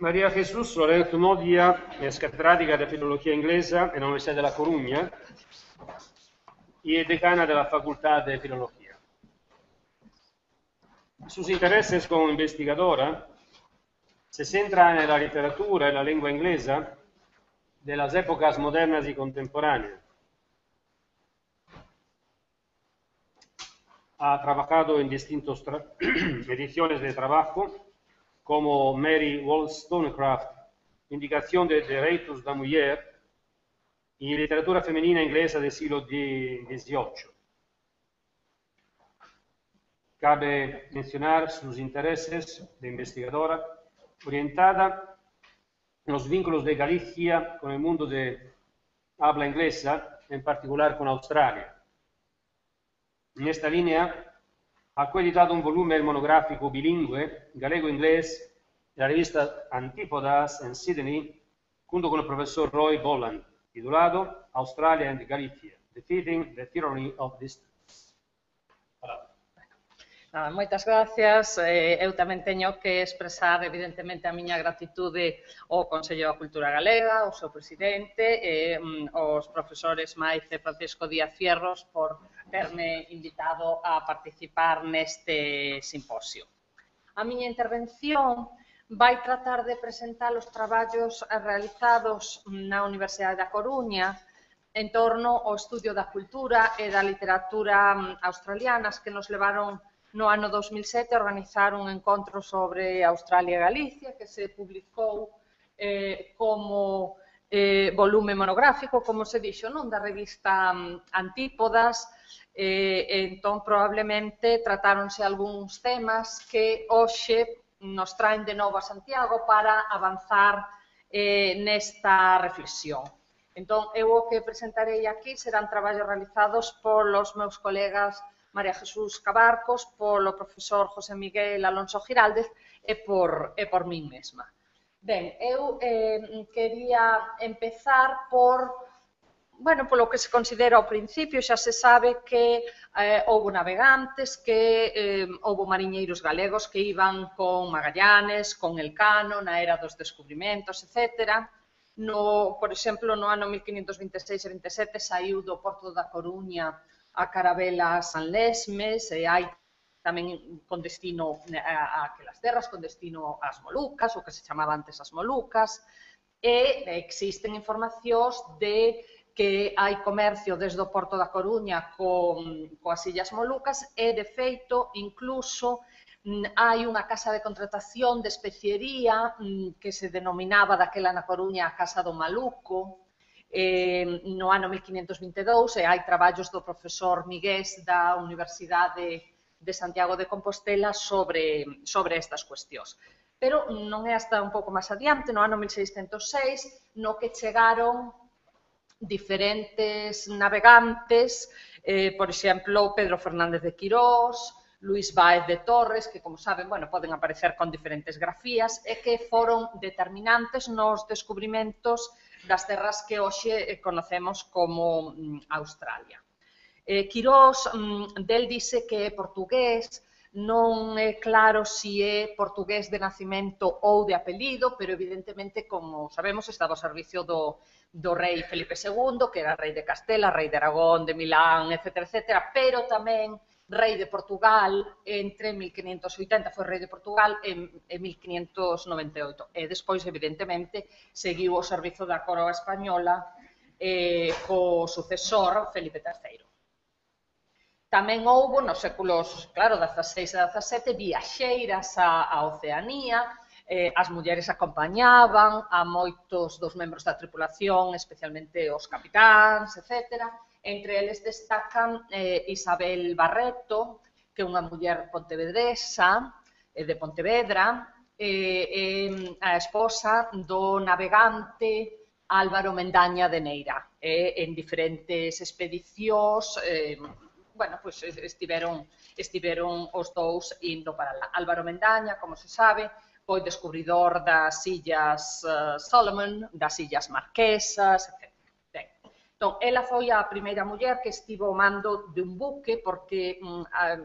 María Jesús Lorenzo Modia es catedrática de Filología Inglesa en la Universidad de La Coruña y es decana de la Facultad de Filología. Sus intereses como investigadora se centran en la literatura y la lengua inglesa de las épocas modernas y contemporáneas. Ha trabajado en distintas ediciones de trabajo, como Mary Wollstonecraft, Indicación de Derechos de la Mujer, y literatura femenina inglesa del siglo XVIII. Cabe mencionar sus intereses de investigadora orientada en los vínculos de Galicia con el mundo de habla inglesa, en particular con Australia. En esta línea ha coeditado un volumen monográfico bilingüe, galego-inglés, en la revista Antípodas en Sydney, junto con el profesor Roy Bolland, titulado Australia and Galicia, Defeating the Tyranny of Distance. Moitas gracias. Eu tamén teño que expresar, evidentemente, a miña gratitude ao Consello da Cultura Galega, ao seu presidente, aos profesores Maice e Francisco Díaz Fierros por terme invitado a participar neste simposio. A miña intervención vai tratar de presentar os traballos realizados na Universidade da Coruña en torno ao estudio da cultura e da literatura australianas que nos levaron no ano 2007 a organizar un encontro sobre Australia e Galicia que se publicou como volume monográfico, como se dixo, non, da revista Antípodas. Entón, probablemente, tratáronse algúns temas que hoxe nos traen de novo a Santiago para avanzar nesta reflexión. Entón, eu o que presentarei aquí serán traballos realizados polos meus colegas María Jesús Cabarcos, polo profesor José Miguel Alonso Giraldez e por min mesma. Ben, eu quería empezar polo que se considera ao principio. Xa se sabe que houbo navegantes, que houbo mariñeiros galegos que iban con Magallanes, con Elcano, na era dos descubrimentos, etc. Por exemplo, no ano 1526 e 27 saiu do Porto da Coruña a carabela San Lesmes, e hai tamén con destino a aquelas terras, con destino ás Molucas, o que se chamaba antes as Molucas, e existen informacións de que hai comercio desde o Porto da Coruña coas Illas Molucas e, de feito, incluso hai unha casa de contratación de especiería que se denominaba daquela na Coruña a Casa do Maluco, no ano 1522, e hai traballos do profesor Migués da Universidade de Santiago de Compostela sobre estas cuestións. Pero non é hasta un pouco máis adiante, no ano 1606, no que chegaron diferentes navegantes, por exemplo, Pedro Fernández de Quirós, Luís Báez de Torres, que, como saben, poden aparecer con diferentes grafías, e que foron determinantes nos descubrimentos das terras que hoxe conocemos como Australia. Quirós, del dice que é portugués, non é claro se é portugués de nacimento ou de apelido, pero evidentemente, como sabemos, estaba ao servicio do rei Felipe II, que era rei de Castela, rei de Aragón, de Milán, etc., pero tamén rei de Portugal entre 1580, foi rei de Portugal en 1598, e despois, evidentemente, seguiu o servizo da coroa española co sucesor Felipe III. Tamén houbo, nos séculos, claro, XVI e XVII, viaxeiras a Oceanía, as mulleres acompañaban a moitos dos membros da tripulación, especialmente os capitáns, etc., Entre eles destacan Isabel Barreto, que é unha muller pontevedresa, de Pontevedra, a esposa do navegante Álvaro Mendaña de Neira. En diferentes expedicións, estiveron os dous indo para lá. Álvaro Mendaña, como se sabe, foi descubridor das Illas Solomon, das Illas Marquesas, etc. Entón, ela foi a primeira muller que estivo ao mando de un buque porque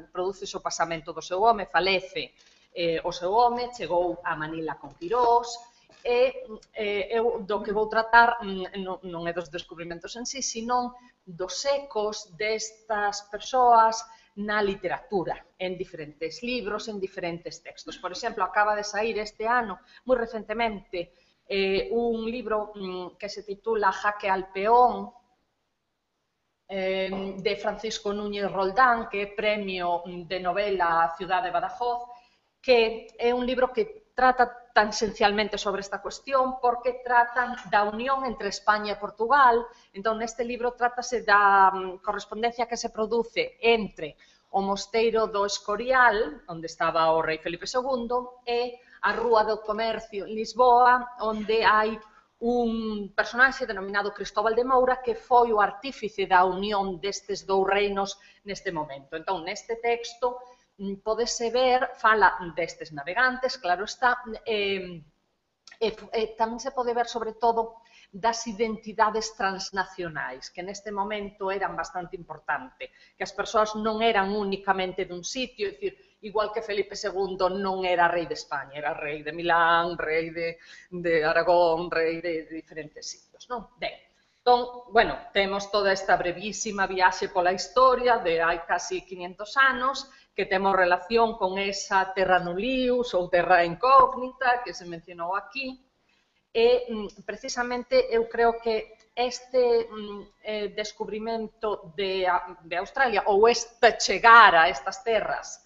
produce o pasamento do seu home, falece o seu home, chegou a Manila con Quirós eu do que vou tratar non é dos descubrimentos en sí, sino dos ecos destas persoas na literatura, en diferentes libros, en diferentes textos. Por exemplo, acaba de sair este ano, moi recentemente, un libro que se titula Jaque al peón, de Francisco Núñez Roldán, que é premio de novela Ciudad de Badajoz, que é un libro que trata tan esencialmente sobre esta cuestión porque tratan da unión entre España e Portugal. Entón, neste libro trátase da correspondencia que se produce entre o mosteiro do Escorial, onde estaba o rei Felipe II, e a Rúa do Comercio en Lisboa, onde hai un personaxe denominado Cristóbal de Moura que foi o artífice da unión destes dous reinos neste momento. Entón, neste texto, podese ver, fala destes navegantes, claro está, tamén se pode ver, sobre todo, das identidades transnacionais, que neste momento eran bastante importante, que as persoas non eran únicamente dun sitio, é dicir, igual que Felipe II non era rei de España, era rei de Milán, rei de Aragón, rei de diferentes sitios, non? Ben, entón, bueno, temos toda esta brevísima viaxe pola historia de hai casi 500 anos, que temos relación con esa terra nullius ou terra incógnita que se mencionou aquí, e precisamente eu creo que este descubrimento de Australia ou este chegar a estas terras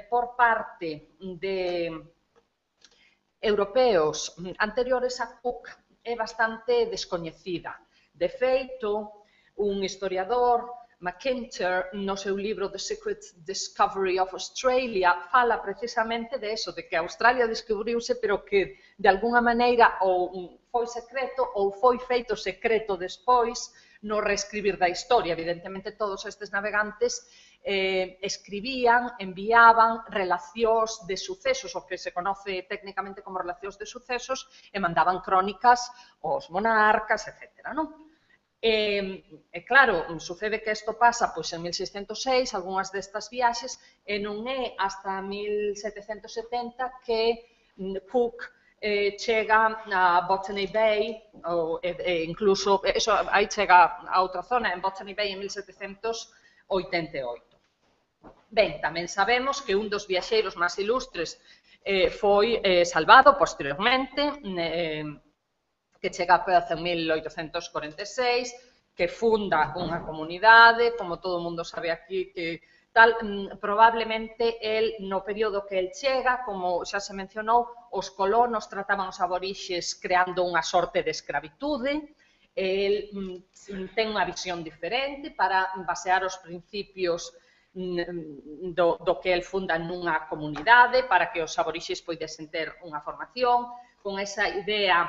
por parte de europeos anteriores a Cook é bastante descoñecida. De feito, un historiador, McIntyre, no seu libro The Secret Discovery of Australia, fala precisamente de eso, de que Australia descubriuse, pero que de alguna maneira ou foi secreto ou foi feito secreto despois no reescribir da historia. Evidentemente, todos estes navegantes escribían, enviaban relacións de sucesos, o que se conoce técnicamente como relacións de sucesos, e mandaban crónicas aos monarcas, etc. Claro, sucede que isto pasa en 1606, algunhas destas viaxes, e non é hasta 1770 que Cook chega a Botany Bay, incluso, aí chega a outra zona, en Botany Bay en 1788. Ben, tamén sabemos que un dos viaxeiros máis ilustres foi salvado posteriormente, que chega a Perth en 1846, que funda unha comunidade, como todo o mundo sabe aquí, que tal, probablemente el, no período que el chega, como xa se mencionou, os colonos trataban os aborixes creando unha sorte de escravitude, el ten unha visión diferente para basear os principios do que el funda nunha comunidade, para que os aborixes poidesen ter unha formación, con esa idea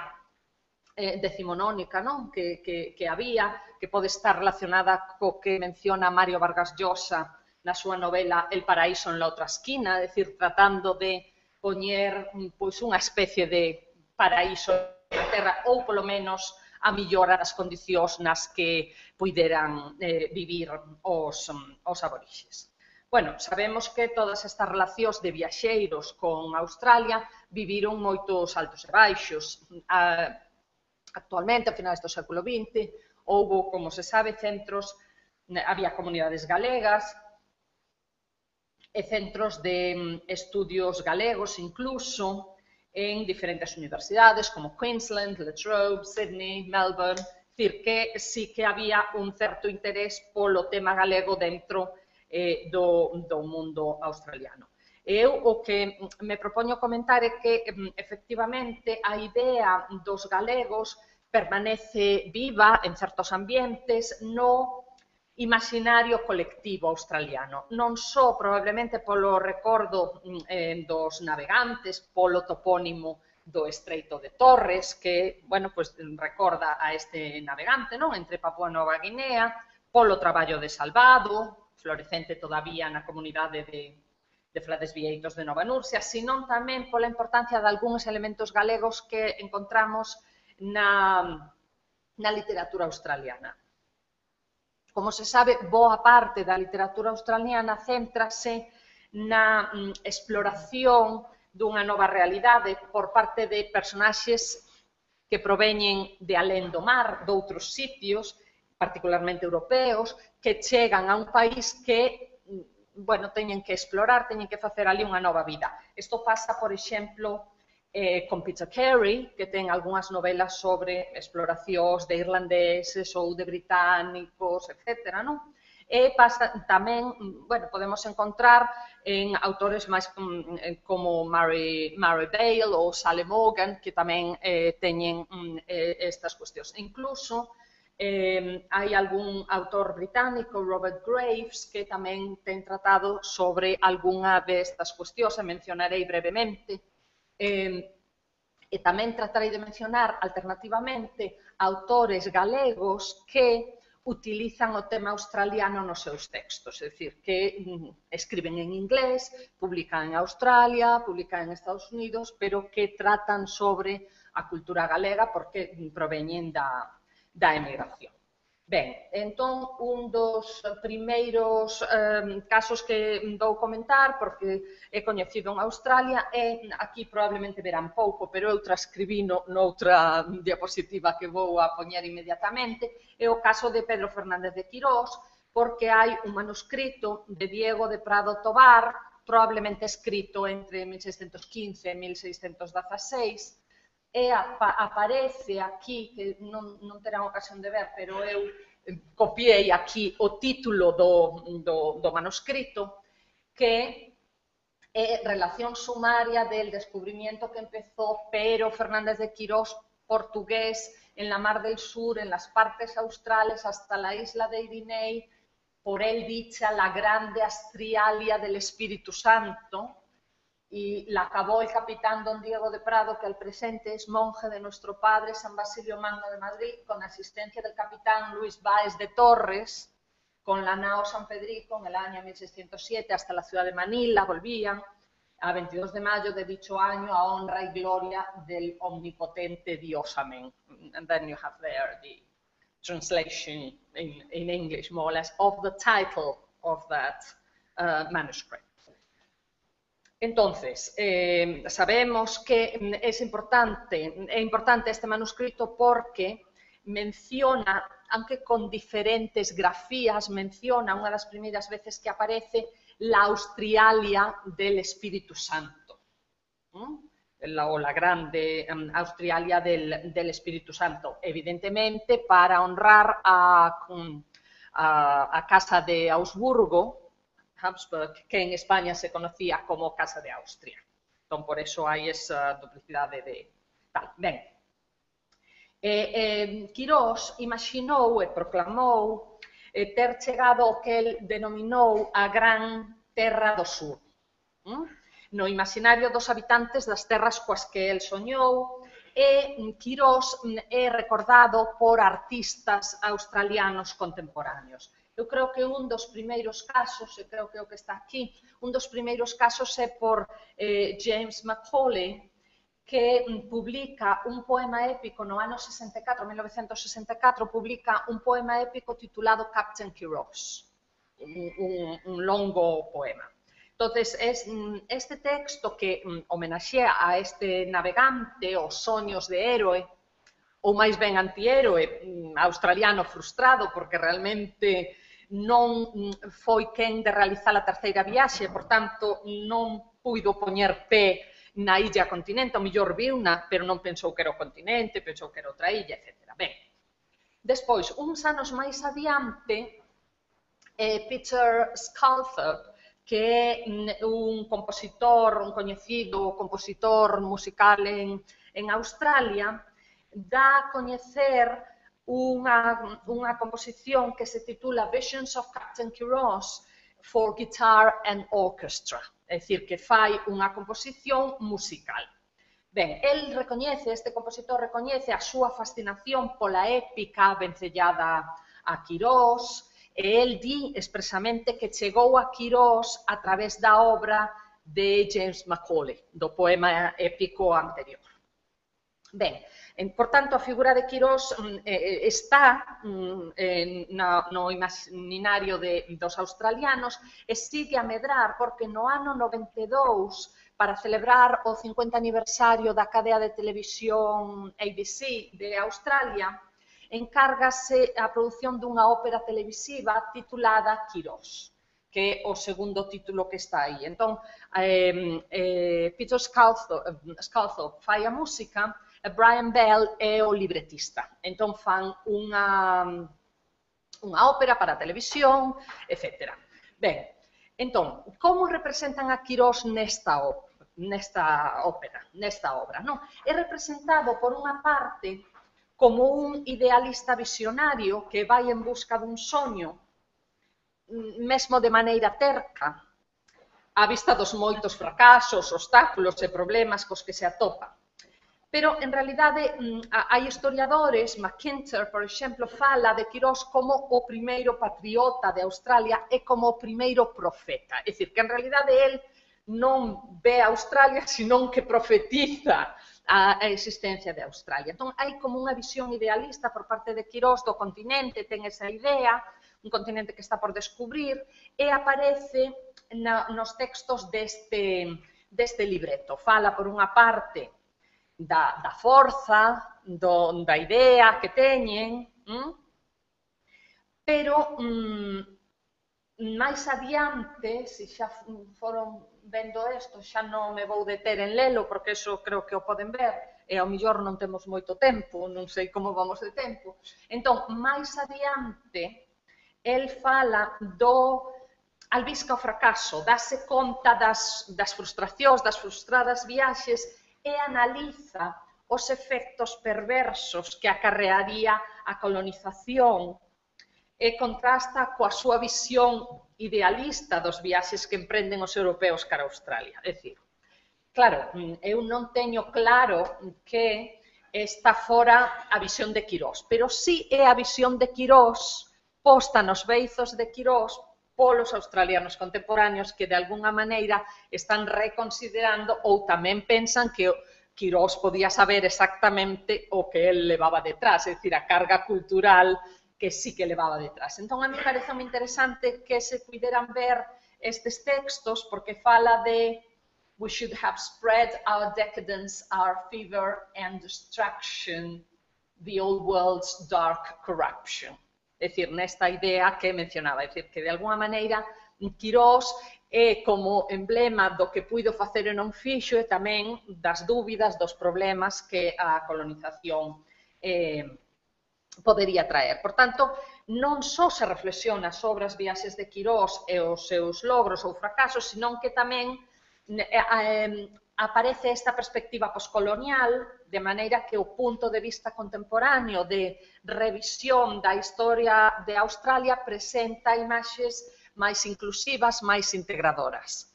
decimonónica, non? Que había, que pode estar relacionada co que menciona Mario Vargas Llosa na súa novela El paraíso en la otra esquina, é dicir, tratando de poñer unha especie de paraíso na Terra, ou polo menos a mellorar as condicións nas que puideran vivir os aborixes. Bueno, sabemos que todas estas relacións de viaxeiros con Australia viviron moitos altos e baixos. Actualmente, a finais do século XX, houbo, como se sabe, centros, había comunidades galegas e centros de estudios galegos incluso en diferentes universidades como Queensland, La Trobe, Sydney, Melbourne, dicir que sí que había un certo interés polo tema galego dentro do mundo australiano. Eu o que me propoño comentar é que, efectivamente, a idea dos galegos permanece viva en certos ambientes no imaginario colectivo australiano, non só probablemente polo recordo dos navegantes, polo topónimo do Estreito de Torres, que, bueno, pues recorda a este navegante, non? Entre Papúa Nova Guinea, polo traballo de Salvado, florecente todavía na comunidade de Frades Vieitos de Nova Nursia, senón tamén pola importancia de algúns elementos galegos que encontramos na literatura australiana. Como se sabe, boa parte da literatura australiana céntrase na exploración dunha nova realidade por parte de personaxes que proveñen de alén do mar, doutros sitios, particularmente europeos, que chegan a un país que, bueno, teñen que explorar, teñen que facer ali unha nova vida. Isto pasa, por exemplo, con Peter Carey, que ten algunhas novelas sobre exploracións de irlandeses ou de británicos, etc., non? E pasa tamén, bueno, podemos encontrar en autores máis como Mary Bale ou Sally Morgan, que tamén teñen estas cuestións. E incluso hai algún autor británico, Robert Graves, que tamén ten tratado sobre algunha destas cuestións, e mencionarei brevemente. E tamén tratarei de mencionar alternativamente autores galegos que utilizan o tema australiano nos seus textos, é dicir, que escriben en inglés, publican en Australia, publican en Estados Unidos, pero que tratan sobre a cultura galega porque proveñen da emigración. Ben, entón, un dos primeiros casos que vou comentar, porque é coñecido en Australia, é, aquí probablemente verán pouco, pero eu transcribino noutra diapositiva que vou a poñer inmediatamente, é o caso de Pedro Fernández de Quirós, porque hai un manuscrito de Diego de Prado Tobar, probablemente escrito entre 1615 e 1616, e aparece aquí, que non terán ocasión de ver, pero eu copiei aquí o título do manuscrito, que é Relación sumaria del descubrimiento que empezó Pedro Fernández de Quirós, portugués, en la Mar del Sur, en las partes australes, hasta la isla de Irinei, por él dicha la grande Astrialia del Espíritu Santo, y la acabó el capitán don Diego de Prado, que al presente es monje de nuestro padre San Basilio Magno de Madrid, con asistencia del capitán Luis Báez de Torres, con la nao San Federico en el año 1607 hasta la ciudad de Manila, volvían a 22 de mayo de dicho año a honra y gloria del omnipotente Dios. Amén. And then you have there the translation in English, more or less, of the title of that manuscript. Entonces, sabemos que es importante este manuscrito porque menciona, aunque con diferentes grafías, menciona una de las primeras veces que aparece la Austrialia del Espíritu Santo, o la grande Austrialia del Espíritu Santo, evidentemente para honrar a Casa de Augsburgo, Habsburg, que en España se conocía como Casa de Austria. Entón, por eso hai esa duplicidade de tal. Ben, Quirós imaginou e proclamou ter chegado ao que el denominou a Gran Terra do Sur. No imaginario dos habitantes das terras coas que el soñou, e Quirós é recordado por artistas australianos contemporáneos. Eu creo que un dos primeiros casos, e creo que é o que está aquí, un dos primeiros casos é por James Macaulay, que publica un poema épico no ano 64, 1964, publica un poema épico titulado Captain Quirós, un longo poema. Entonces, este texto que homenaxea a este navegante, os soños de héroe, ou máis ben antihéroe, australiano frustrado, porque realmente non foi quen de realizar a terceira viaxe, por tanto, non puido poñer pé na illa continente, o mellor viuna, pero non pensou que era o continente, pensou que era outra illa, etc. Ben, despois, uns anos máis adiante, Peter Sculthorpe, que é un compositor, un coñecido compositor musical en Australia, dá a coñecer unha composición que se titula Visions of Captain Quirós for Guitar and Orchestra, é dicir, que fai unha composición musical. Ben, este compositor recoñece a súa fascinación pola épica vencellada a Quirós, e el di expresamente que chegou a Quirós a través da obra de James Macaulay, do poema épico anterior. Ben, por tanto, a figura de Quirós está no imaginario dos australianos e sigue a medrar porque no ano 92 para celebrar o 50 aniversario da cadea de televisión ABC de Australia, encárgase a produción dunha ópera televisiva titulada Quirós, que é o segundo título que está aí. Entón, Peter Sculthorpe fai a música e Brian Bell é o libretista. Entón, fan unha ópera para a televisión, etc. Ben, entón, como representan a Quirós nesta ópera, nesta obra? Non? É representado, por unha parte, como un idealista visionario que vai en busca dun soño, mesmo de maneira terca, á vista dos moitos fracasos, obstáculos e problemas cos que se atopa. Pero, en realidade, hai historiadores, McIntyre, por exemplo, fala de Quirós como o primeiro patriota de Australia e como o primeiro profeta. É dicir, que en realidade el non ve a Australia, senón que profetiza a existencia de Australia. Entón, hai como unha visión idealista por parte de Quirós do continente, ten esa idea, un continente que está por descubrir, e aparece nos textos deste libreto. Fala, por unha parte, da forza, da idea que teñen, pero máis adiante, se xa foron vendo isto, xa non me vou deter en lelo, porque eso creo que o poden ver, e ao mellor non temos moito tempo, non sei como vamos de tempo. Entón, máis adiante, el fala do albisca o fracaso, dase conta das frustracións, das frustradas viaxes, e analiza os efectos perversos que acarrearía a colonización e contrasta coa súa visión idealista dos viaxes que emprenden os europeos cara a Australia. É dicir, claro, eu non teño claro que esta fora a visión de Quirós, pero sí é a visión de Quirós posta nos beizos de Quirós polos australianos contemporáneos que de alguna maneira están reconsiderando ou tamén pensan que Quirós podía saber exactamente o que el levaba detrás, é dicir, a carga cultural que sí que levaba detrás. Entón, a mí parece moi interesante que se puderan ver estes textos porque fala de we should have spread our decadence, our fever and destruction, the old world's dark corruption. É dicir, nesta idea que mencionaba, é dicir, que de alguna maneira Quirós é como emblema do que puido facer e non fixo e tamén das dúbidas, dos problemas que a colonización podería traer. Por tanto, non só se reflexiona sobre as viaxes de Quirós e os seus logros ou fracasos, senón que tamén aparece esta perspectiva poscolonial, de maneira que o punto de vista contemporáneo de revisión da historia de Australia presenta imaxes máis inclusivas, máis integradoras.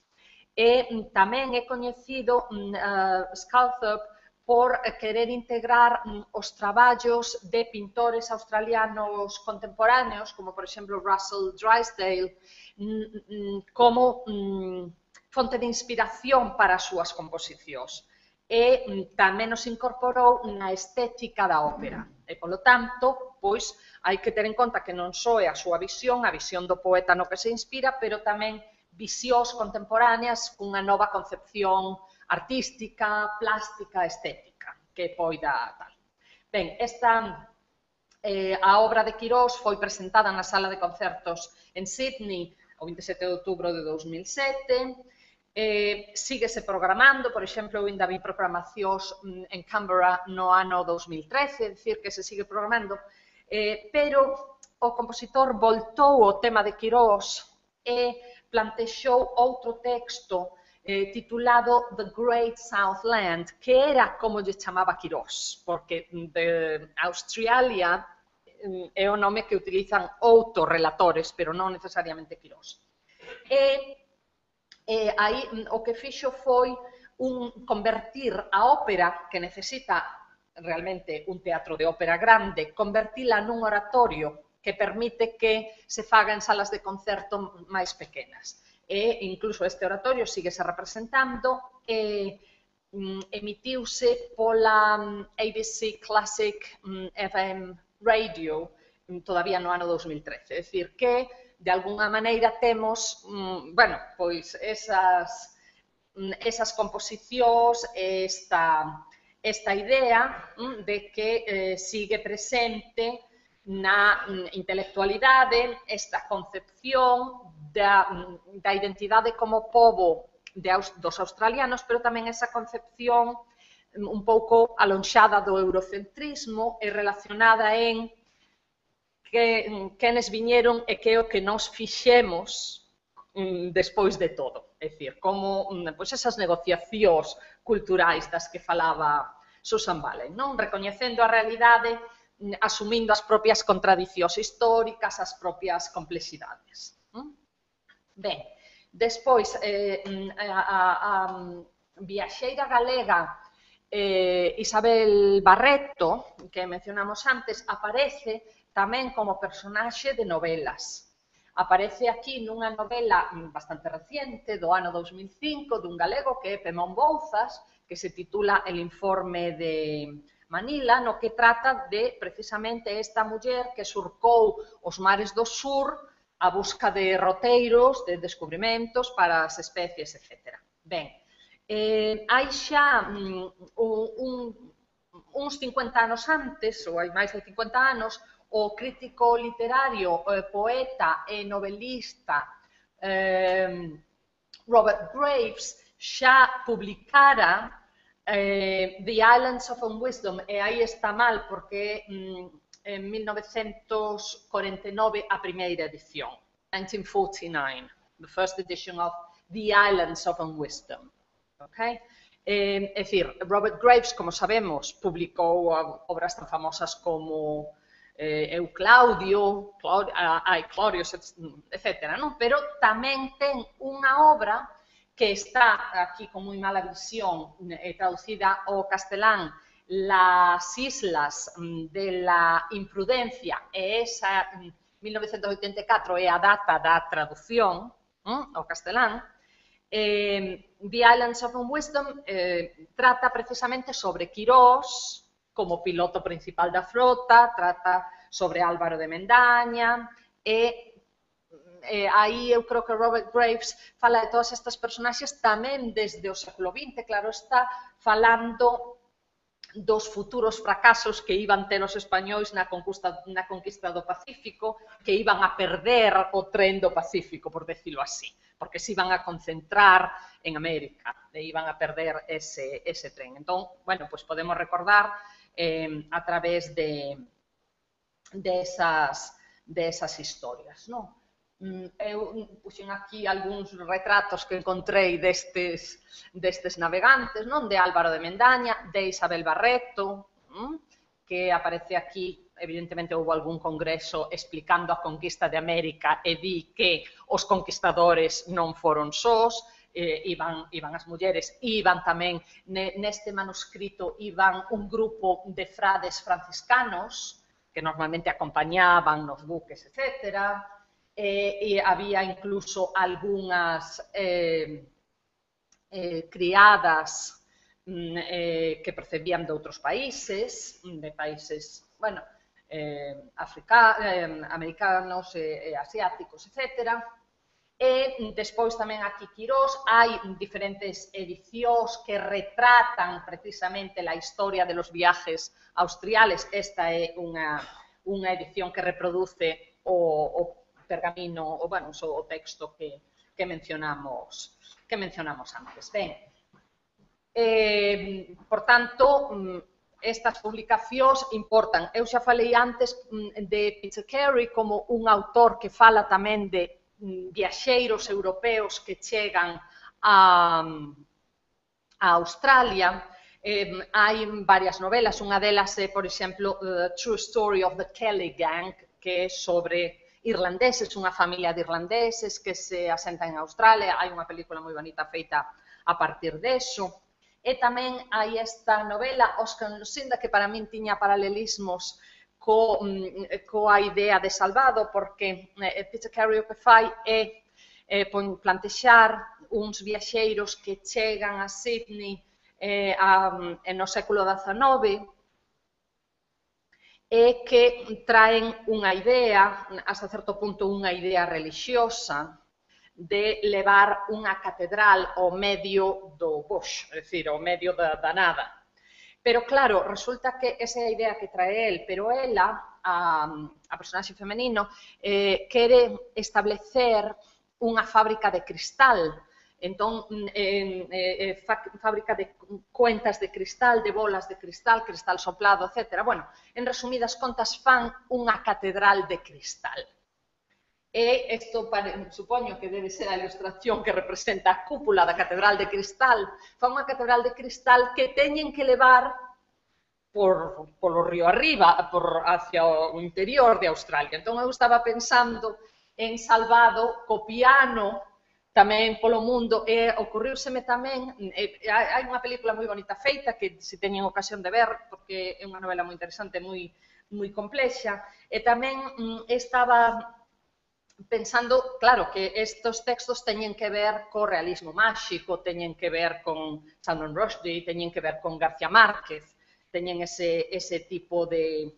E tamén é coñecido Sculthorpe por querer integrar os traballos de pintores australianos contemporáneos, como por exemplo Russell Drysdale, como fonte de inspiración para as súas composicións. E tamén nos incorporou na estética da ópera. E, polo tanto, pois, hai que ter en conta que non só é a súa visión, a visión do poeta no que se inspira, pero tamén visións contemporáneas cunha nova concepción artística, plástica, estética, que poida tal. Ben, a obra de Quirós foi presentada na sala de concertos en Sydney o 27 de outubro de 2007, síguese programando, por exemplo, eu ainda vi programacións en Canberra no ano 2013, é dicir, que se sigue programando, pero o compositor voltou ao tema de Quirós e plantexou outro texto titulado The Great Southland, que era como lle chamaba Quirós, porque Australia é o nome que utilizan outros relatores, pero non necesariamente Quirós. Aí o que fixo foi convertir a ópera, que necesita realmente un teatro de ópera grande, convertila nun oratorio que permite que se faga en salas de concerto máis pequenas. E incluso este oratorio síguese representando e emitiuse pola ABC Classic FM Radio todavía no ano 2013. É dicir, que de alguna maneira temos, bueno, pois esas esas composicións, esta idea de que sigue presente na intelectualidade esta concepción da identidade como pobo dos australianos, pero tamén esa concepción un pouco alonxada do eurocentrismo e relacionada en quenes viñeron e que o que nos fixemos despois de todo. É dicir, como esas negociacións culturais das que falaba Susan Valen, non? Recoñecendo a realidade, asumindo as propias contradicións históricas, as propias complexidades. Ben, despois, a viaxeira galega Isabel Barreto, que mencionamos antes, aparece tamén como personaxe de novelas. Aparece aquí nunha novela bastante reciente, do ano 2005, dun galego que é Pemón Bouzas, que se titula El informe de Manila, no que trata de, precisamente, esta muller que surcou os mares do sur a busca de roteiros, de descubrimentos para as especies, etc. Ben, hai xa uns 50 anos antes, ou hai máis de 50 anos, o crítico literario, poeta e novelista Robert Graves xa publicara The Islands of Unwisdom, e aí está mal porque en 1949 a primeira edición, 1949, the first edition of The Islands of Unwisdom. Okay? É dicir, Robert Graves, como sabemos, publicou obras tan famosas como Eu Claudio, etc. Non? Pero tamén ten unha obra que está aquí con moi mala visión, traducida ao castelán, Las Islas de la Imprudencia, e esa, 1984, é a data da traducción ao castelán. The Islands of Unwisdom trata precisamente sobre Quirós, como piloto principal da frota, trata sobre Álvaro de Mendaña, e aí eu creo que Robert Graves fala de todas estas personaxes tamén desde o século XX, claro, está falando dos futuros fracasos que iban ter os españois na conquista do Pacífico, que iban a perder o tren do Pacífico, por decirlo así, porque se iban a concentrar en América, e iban a perder ese tren. Entón, bueno, pues podemos recordar a través de esas historias, non? Eu puxen aquí algúns retratos que encontrei destes navegantes, non? De Álvaro de Mendaña, de Isabel Barreto, que aparece aquí, evidentemente houve algún congreso explicando a conquista de América e di que os conquistadores non foron sós, iban as mulleres, iban tamén, neste manuscrito, iban un grupo de frades franciscanos que normalmente acompañaban nos buques, etc., e había incluso algunhas criadas que procedían de outros países, bueno, americanos, asiáticos, etc. E despois tamén aquí Quirós, hai diferentes edicións que retratan precisamente a historia de los viajes austriales. Esta é unha edición que reproduce o pergamino, o texto que mencionamos antes. Ben, por tanto, estas publicacións importan. Eu xa falei antes de Peter Carey como un autor que fala tamén de viaxeiros europeos que chegan a Australia. Hai varias novelas, unha delas é, por exemplo, The True Story of the Kelly Gang, que é sobre irlandeses, unha familia de irlandeses que se asentan en Australia. Hai unha película moi bonita feita a partir deso. E tamén hai esta novela, Oscar and Lucinda, que para min tiña paralelismos coa idea de Salvado, porque Peter Carey o que fai é plantexar uns viaxeiros que chegan a Sydney no século XIX e que traen unha idea, hasta certo punto unha idea relixiosa, de levar unha catedral ao medio do bush, é dicir, ao medio da nada. Pero claro, resulta que esa é a idea que trae el, pero ela, a personaxe femenino, quere establecer unha fábrica de cristal. Entón, fábrica de cuentas de cristal, de bolas de cristal, cristal soplado, etc. Bueno, en resumidas contas, fan unha catedral de cristal. E isto, supoño que debe ser a ilustración que representa a cúpula da catedral de cristal, fan unha catedral de cristal que teñen que levar polo río arriba, hacia o interior de Australia. Entón, eu estaba pensando en Salvado, co piano, tamén polo mundo, e ocorriuseme tamén, hai unha película moi bonita feita, que se teñen ocasión de ver, porque é unha novela moi interesante, moi complexa, e tamén estaba pensando, claro, que estos textos teñen que ver co realismo máxico, teñen que ver con Salman Rushdie, teñen que ver con García Márquez, teñen ese tipo de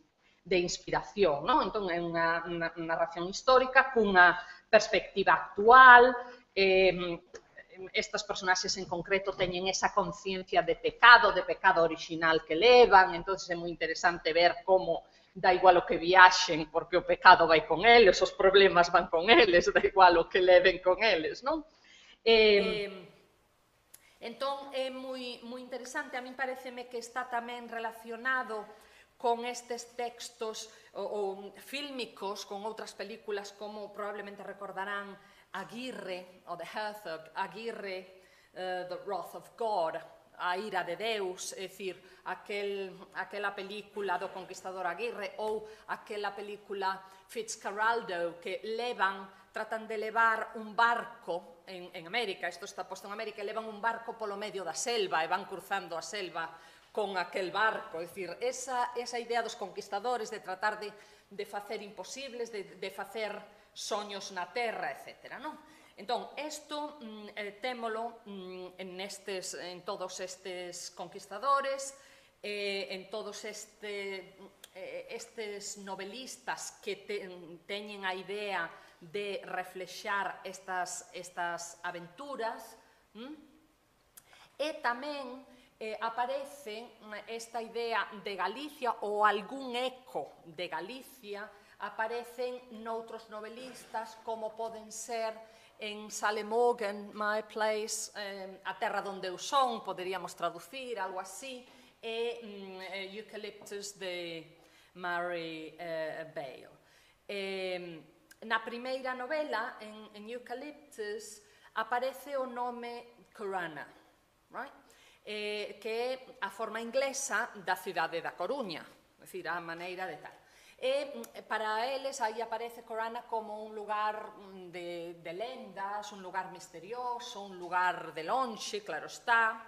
inspiración, non? Entón, é unha narración histórica cunha perspectiva actual, estas personaxes en concreto teñen esa conciencia de pecado original que levan, entón é moi interesante ver como da igual o que viaxen, porque o pecado vai con eles, os problemas van con eles, da igual o que leven con eles, non? Entón, é moi interesante, a min pareceme que está tamén relacionado con estes textos fílmicos, con outras películas como probablemente recordarán Aguirre, o The Herzog, Aguirre, The Wrath of God, a ira de Deus, é dicir, aquela película do Conquistador Aguirre ou aquela película Fitzcarraldo que tratan de levar un barco en América, isto está posto en América, levan un barco polo medio da selva e van cruzando a selva con aquel barco, é dicir, esa idea dos conquistadores de tratar de facer imposibles, de facer soños na terra, etc. Entón, isto témolo en todos estes conquistadores, en todos estes novelistas que teñen a idea de reflexar estas aventuras, e tamén aparece esta idea de Galicia ou algún eco de Galicia aparecen noutros novelistas como poden ser en Sally Morgan, My Place, A Terra donde eu son, poderíamos traducir, algo así, e Eucalyptus de Mary Bale. Na primeira novela, en Eucalyptus, aparece o nome Corunna, que é a forma inglesa da cidade da Coruña, é dicir, a maneira de tal. E para eles aí aparece Corunna como un lugar de lendas, un lugar misterioso, un lugar de lonxe, claro está,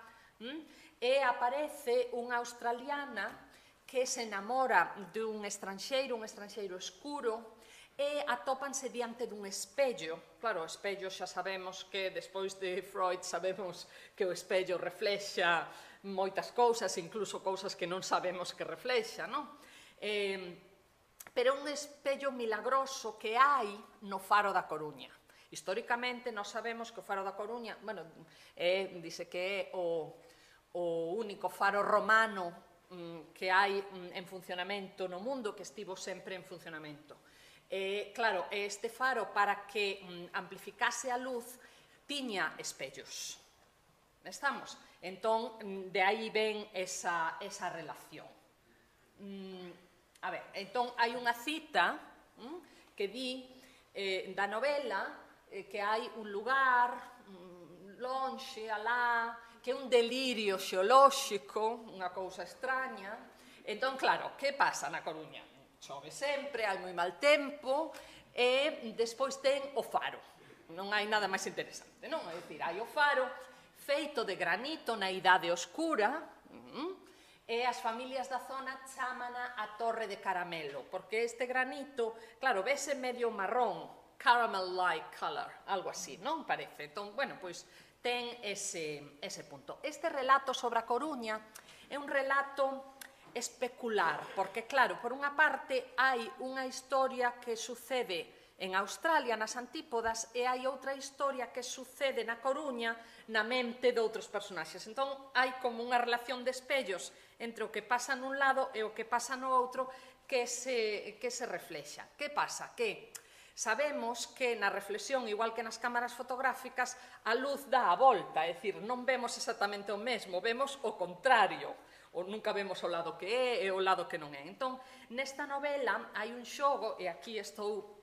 e aparece unha australiana que se enamora dun estranxeiro escuro, e atópanse diante dun espello. Claro, o espello xa sabemos que, despois de Freud, sabemos que o espello reflexa moitas cousas, incluso cousas que non sabemos que reflexa, non? Pero un espello milagroso que hai no Faro da Coruña. Históricamente, nós sabemos que o Faro da Coruña, bueno, dice que é o único faro romano que hai en funcionamento no mundo, que estivo sempre en funcionamento. Claro, este faro, para que amplificase a luz, tiña espellos. Estamos? Entón, de aí ven esa relación. A ver, entón, hai unha cita que di da novela que hai un lugar lonxe, alá, que é un delirio xeolóxico, unha cousa extraña. Entón, claro, que pasa na Coruña? Chove sempre, hai moi mal tempo, e despois ten o faro. Non hai nada máis interesante, non? É dicir, hai o faro feito de granito na idade oscura, e as familias da zona chámana a Torre de Caramelo, porque este granito, claro, vese medio marrón, caramel-like color, algo así, non parece? Entón, bueno, pois ten ese punto. Este relato sobre a Coruña é un relato especular, porque, claro, por unha parte hai unha historia que sucede en Australia, nas antípodas, e hai outra historia que sucede na Coruña na mente de outros personaxes. Entón, hai como unha relación de espellos entre o que pasa nun lado e o que pasa no outro que se reflexa. Que pasa? Que sabemos que na reflexión, igual que nas cámaras fotográficas, a luz dá a volta, é dicir, non vemos exactamente o mesmo, vemos o contrario, ou nunca vemos o lado que é e o lado que non é. Entón, nesta novela hai un xogo, e aquí estou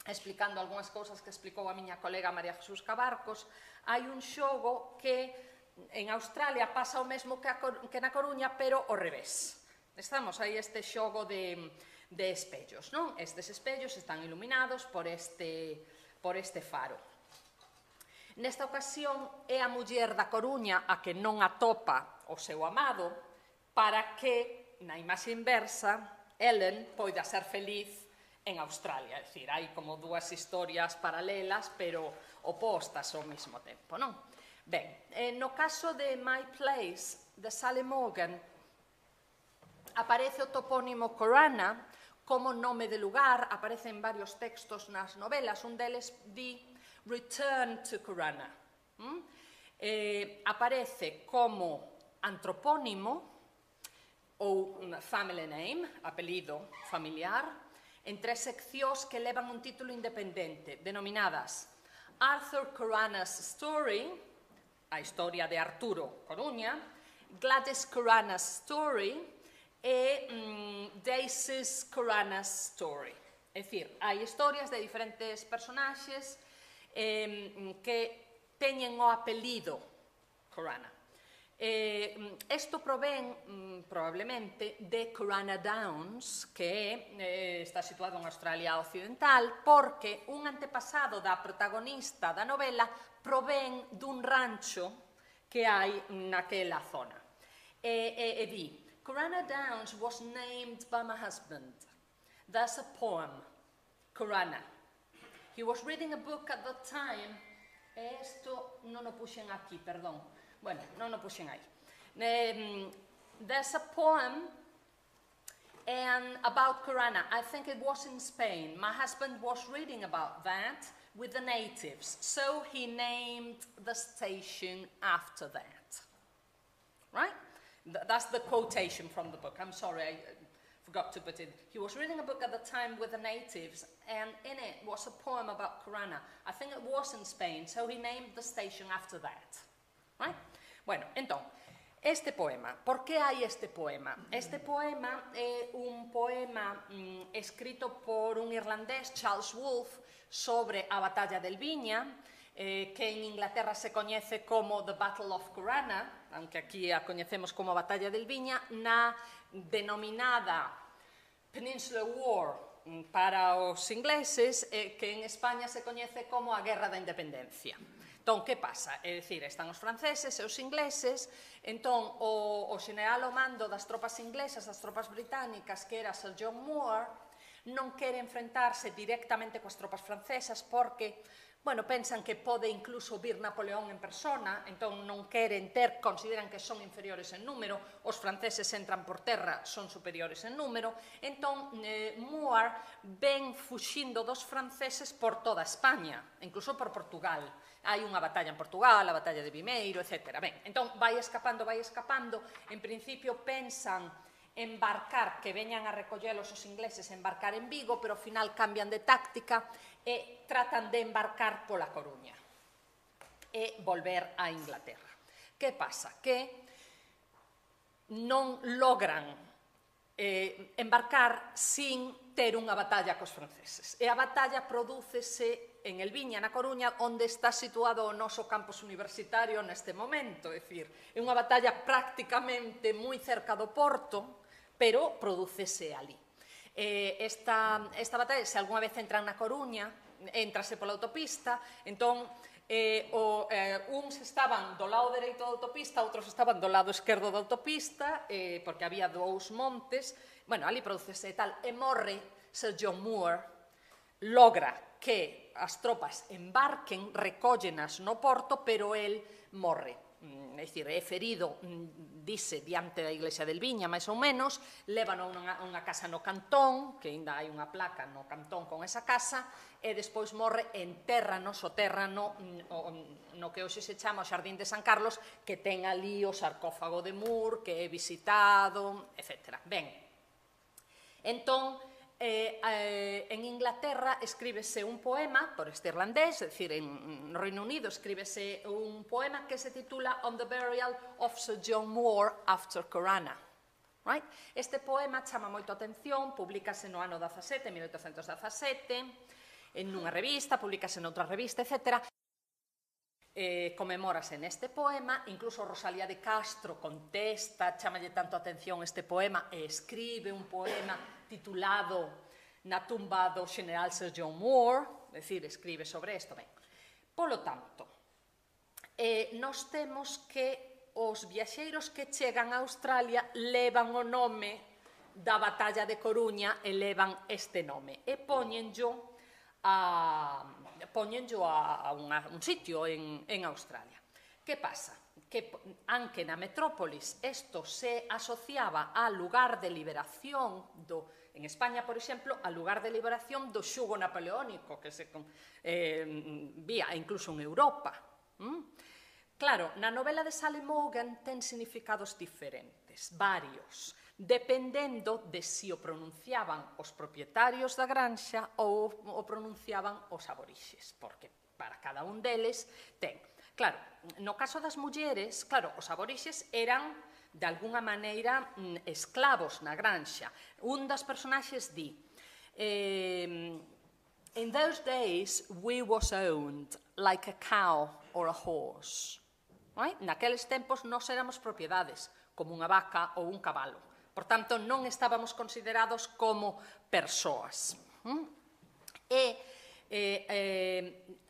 explicando algunhas cousas que explicou a miña colega María Jesús Cabarcos, hai un xogo que en Australia pasa o mesmo que na Coruña, pero ao revés. Estamos aí este xogo de espellos, non? Estes espellos están iluminados por este faro. Nesta ocasión é a muller da Coruña a que non atopa o seu amado para que, na imaxe inversa, Ellen poida ser feliz en Australia. É dicir, hai como dúas historias paralelas, pero opostas ao mesmo tempo, non? Ben, no caso de My Place, de Sally Morgan, aparece o topónimo Corunna como nome de lugar, aparece en varios textos nas novelas, un deles di Return to Corunna. Aparece como antropónimo ou family name, apelido familiar, en tres seccións que levan un título independente, denominadas Arthur Corunna's Story, a historia de Arturo Coruña, Gladys Corunna's Story e Daisy's Corunna's Story. É dicir, hai historias de diferentes personaxes que teñen o apelido Corunna. Isto provén probablemente de Corunna Downs, que está situado en Australia Occidental, porque un antepasado da protagonista da novela provén dun rancho que hai naquela zona. E di, Corunna Downs was named by my husband. There's a poem, Corunna. He was reading a book at the time, e isto non o puxen aquí, perdón. Bueno, non o puxen aí. There's a poem about Corunna. I think it was in Spain. My husband was reading about that with the natives, so he named the station after that. Right? That's the quotation from the book. I'm sorry, I forgot to put it. He was reading a book at the time with the natives, and in it was a poem about Corunna. I think it was in Spain, so he named the station after that. Right? Bueno, entón, este poema, por que hai este poema? Este poema é un poema escrito por un irlandés, Charles Wolfe, sobre a batalla del Viña, que en Inglaterra se coñece como The Battle of Corunna, aunque aquí a coñecemos como a batalla del Viña, na denominada Peninsular War para os ingleses, que en España se coñece como a Guerra da Independencia. Entón, que pasa? É dicir, están os franceses e os ingleses, entón, o xeneral ao mando das tropas inglesas, das tropas británicas, que era Sir John Moore, non quere enfrentarse directamente coas tropas francesas porque, bueno, pensan que pode incluso vir Napoleón en persona, entón non queren ter, consideran que son inferiores en número, os franceses entran por terra, son superiores en número, entón Moore ven fuxindo dos franceses por toda España, incluso por Portugal. Hai unha batalla en Portugal, a batalla de Vimeiro, etc. Ben, entón vai escapando, en principio pensan embarcar, que veñan a recollelos os ingleses, embarcar en Vigo, pero ao final cambian de táctica e tratan de embarcar pola Coruña e volver a Inglaterra. Que pasa? Que non logran embarcar sin ter unha batalla cos franceses. E a batalla prodúcese en El Viña, na Coruña, onde está situado o noso campus universitario neste momento. É dicir, é unha batalla prácticamente moi cerca do porto, pero prodúcese ali. Esta batalla, se algunha vez entran na Coruña, entrase pola autopista, entón uns estaban do lado dereito da autopista, outros estaban do lado esquerdo da autopista, porque había dous montes, bueno, ali prodúcese tal, e morre Sir John Moore, logra que as tropas embarquen, recóllenas no porto, pero el morre. é dicir, é ferido, dice, diante da iglesia del Viña, máis ou menos, levan a unha casa no Cantón, que ainda hai unha placa no Cantón con esa casa, e despois morre en terra, no sotérrano, no que hoxe se chama o Xardín de San Carlos, que ten ali o sarcófago de Moore, que é visitado, etc. Ben, entón, en Inglaterra escríbese un poema por este irlandés, é dicir, en Reino Unido escríbese un poema que se titula On the Burial of Sir John Moore After Corunna. Right? Este poema chama moito a atención, publícase no ano 17, 1817, en unha revista, publícase noutra revista, etc. Comemórase neste poema, incluso Rosalía de Castro contesta, chamalle tanto a atención este poema, e escribe un poema titulado Na tumba do General Sir John Moore, é dicir, escribe sobre isto. Ben, polo tanto, nós temos que os viaxeiros que chegan a Australia levan o nome da Batalla de Coruña e levan este nome, e póñenllo a un sitio en Australia. Que pasa? Que anque na metrópolis isto se asociaba ao lugar de liberación en España, por exemplo, ao lugar de liberación do xugo napoleónico que se vía incluso en Europa. Claro, na novela de Sally Morgan ten significados diferentes, varios, dependendo de si o pronunciaban os propietarios da granxa ou o pronunciaban os aborixes, porque para cada un deles ten. Claro, no caso das mulleres, claro, os aborixes eran de alguna maneira esclavos na granxa. Un das personaxes di: In those days we was owned like a cow or a horse. Naqueles tempos nós éramos propiedades, como unha vaca ou un cabalo. Por tanto, non estábamos considerados como persoas.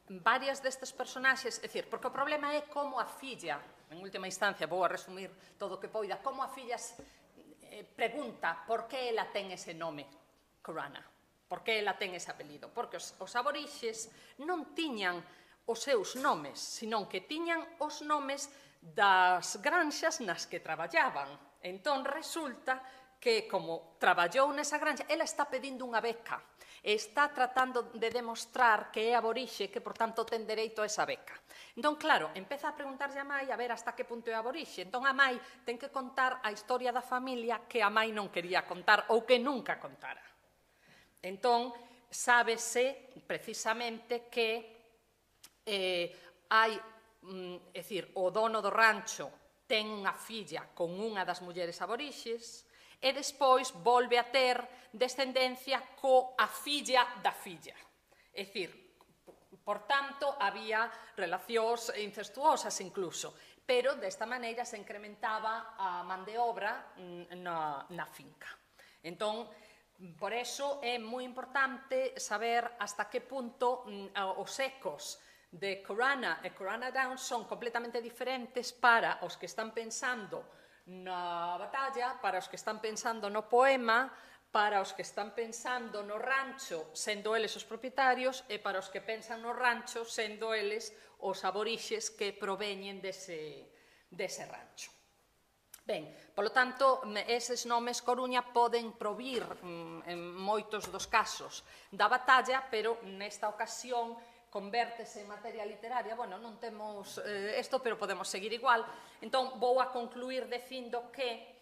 Varias destes personaxes, é dicir, porque o problema é como a filla, en última instancia, vou a resumir todo o que poida, como a filla pregunta por que ela ten ese nome, Corunna, por que ela ten ese apelido, porque os aborixes non tiñan os seus nomes, senón que tiñan os nomes das granxas nas que traballaban. Entón, resulta que, como traballou nesa granxa, ela está pedindo unha beca, e está tratando de demostrar que é aborixe, que, por tanto, ten dereito a esa beca. Entón, claro, empeza a preguntarlle a mai a ver hasta que punto é aborixe. Entón, a mai ten que contar a historia da familia que a mai non quería contar ou que nunca contara. Entón, sábese precisamente que hai, é dicir, o dono do rancho ten unha filla con unha das mulleres aborixes e despois volve a ter descendencia coa filla da filla. É dicir, por tanto, había relacións incestuosas incluso, pero desta maneira se incrementaba a man de obra na finca. Entón, por eso é moi importante saber hasta que punto os ecos de Corunna e Corunna Downs son completamente diferentes para os que están pensando na batalla, para os que están pensando no poema, para os que están pensando no rancho, sendo eles os propietarios, e para os que pensan no rancho, sendo eles os aborixes que proveñen dese rancho. Ben, polo tanto, eses nomes Coruña poden provir en moitos dos casos da batalla, pero nesta ocasión convértese en materia literaria. Bueno, non temos isto, pero podemos seguir igual. Entón, vou a concluir dicindo que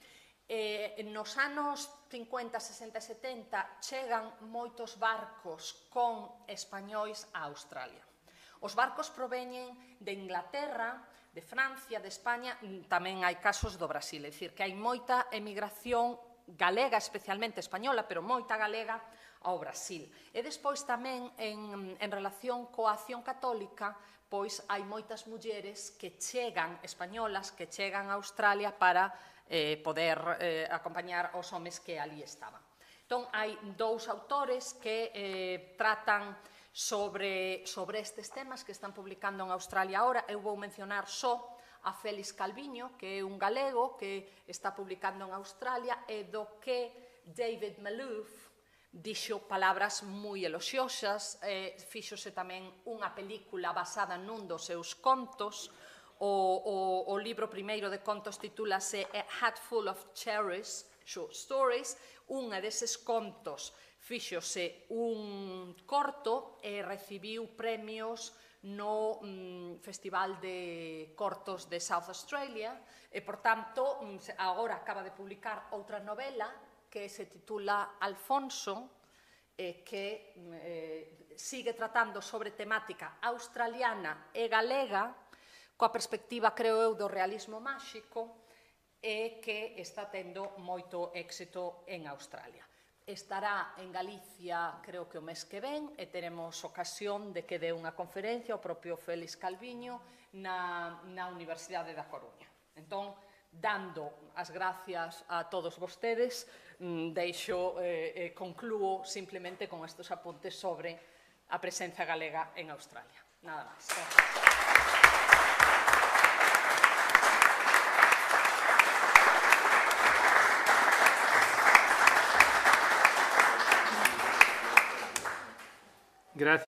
nos anos 50, 60 e 70 chegan moitos barcos con españois a Australia. Os barcos proveñen de Inglaterra, de Francia, de España, tamén hai casos do Brasil, é dicir, que hai moita emigración galega, especialmente española, pero moita galega ao Brasil. E despois tamén, en relación coa acción católica, pois hai moitas mulleres que chegan, españolas, que chegan a Australia para poder acompañar os homes que ali estaban. Entón, hai dous autores que tratan sobre estes temas que están publicando en Australia ahora. Eu vou mencionar só a Félix Calviño, que é un galego que está publicando en Australia, e do que David Malouf dixo palabras moi eloxiosas, fíxose tamén unha película basada nun dos seus contos, o libro primeiro de contos titúlase A Hat Full of Cherries, Short Stories. Unha deses contos fíxose un corto e recibiu premios no Festival de Cortos de South Australia e, por tanto, agora acaba de publicar outra novela que se titula Alfonso, que sigue tratando sobre temática australiana e galega, coa perspectiva, creo eu, do realismo máxico, e que está tendo moito éxito en Australia. Estará en Galicia, creo que o mes que ven, e teremos ocasión de que dé unha conferencia o propio Félix Calviño na Universidade da Coruña. Entón, dando as gracias a todos vostedes, conclúo simplemente con estes apuntes sobre a presenza galega en Australia. Nada máis. Gracias.